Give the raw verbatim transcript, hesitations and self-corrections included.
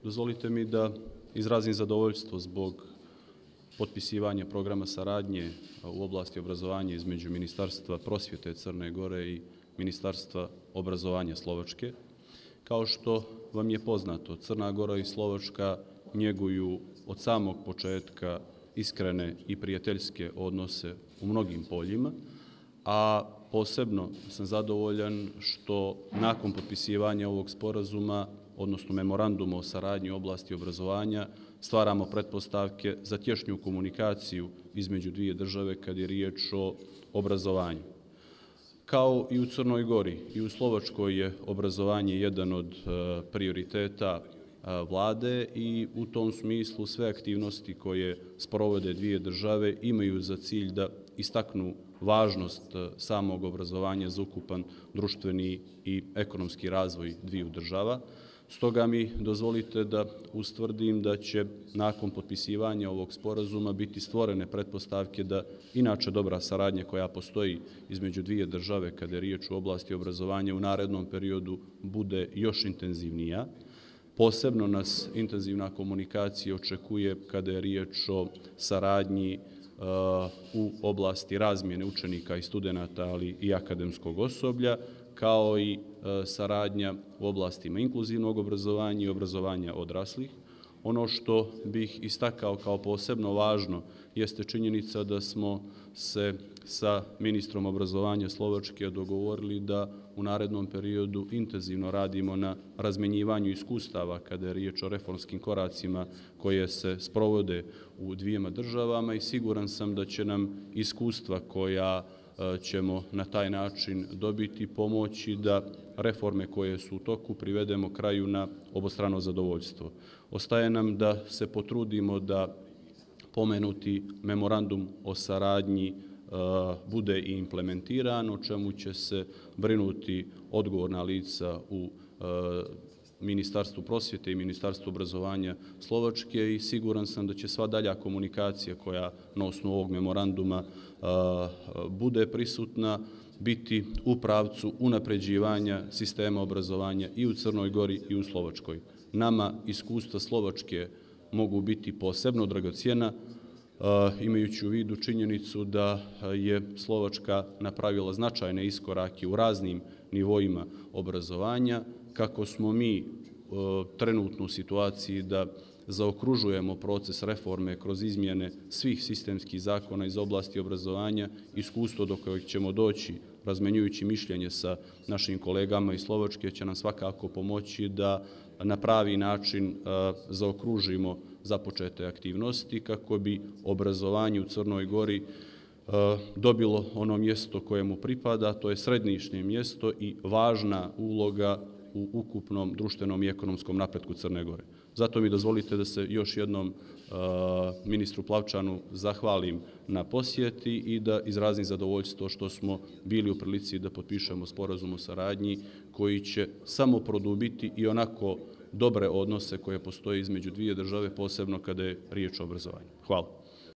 dozvolite mi da izrazim zadovoljstvo zbog potpisivanja programa saradnje u oblasti obrazovanja između Ministarstva prosvjete Crne Gore i Ministarstva obrazovanja Slovačke. Kao što vam je poznato, Crna Gora i Slovačka njeguju od samog početka iskrene i prijateljske odnose u mnogim poljima, a posebno sam zadovoljan što nakon potpisivanja ovog sporazuma, odnosno memoranduma o saradnji u oblasti obrazovanja, stvaramo pretpostavke za tješnju komunikaciju između dvije države kad je riječ o obrazovanju. Kao i u Crnoj Gori, i u Slovačkoj je obrazovanje jedan od prioriteta vlade i u tom smislu sve aktivnosti koje sprovode dvije države imaju za cilj da istaknu važnost samog obrazovanja za ukupan društveni i ekonomski razvoj dviju država. Stoga mi dozvolite da ustvrdim da će nakon potpisivanja ovog sporazuma biti stvorene pretpostavke da inače dobra saradnja koja postoji između dvije države kada je riječ o oblasti obrazovanja u narednom periodu bude još intenzivnija. Posebno nas intenzivna komunikacija očekuje kada je riječ o saradnji u oblasti razmjene učenika i studenata, ali i akademskog osoblja, kao i saradnja u oblastima inkluzivnog obrazovanja i obrazovanja odraslih. Ono što bih istakao kao posebno važno jeste činjenica da smo se sa ministrom obrazovanja Slovačke dogovorili da u narednom periodu intenzivno radimo na razmjenjivanju iskustava kada je riječ o reformskim koracima koje se sprovode u dvijema državama i siguran sam da će nam iskustva koja ćemo na taj način dobiti pomoći da reforme koje su u toku privedemo kraju na obostrano zadovoljstvo. Ostaje nam da se potrudimo da pomenuti memorandum o saradnji bude i implementiran, o čemu će se brinuti odgovorna lica u Ministarstvu prosvjete i Ministarstvu obrazovanja Slovačke i siguran sam da će sva dalja komunikacija koja na osnovu ovog memoranduma bude prisutna biti u pravcu unapređivanja sistema obrazovanja i u Crnoj Gori i u Slovačkoj. Nama iskustva Slovačke mogu biti posebno dragocjena, imajući u vidu činjenicu da je Slovačka napravila značajne iskorake u raznim nivoima obrazovanja, kako smo mi trenutno u situaciji da zaokružujemo proces reforme kroz izmjene svih sistemskih zakona iz oblasti obrazovanja, iskustvo do kojeg ćemo doći razmenjujući mišljenje sa našim kolegama iz Slovačke će nam svakako pomoći da na pravi način zaokružimo započete aktivnosti kako bi obrazovanje u Crnoj Gori dobilo ono mjesto koje mu pripada, to je središnje mjesto i važna uloga u ukupnom društvenom i ekonomskom napretku Crne Gore. Zato mi dozvolite da se još jednom ministru Plavčanu zahvalim na posjeti i da izrazim zadovoljstvo što smo bili u prilici da potpišemo sporazum o saradnji koji će samo produbiti i onako dobre odnose koje postoje između dvije države, posebno kada je riječ o obrazovanju. Hvala.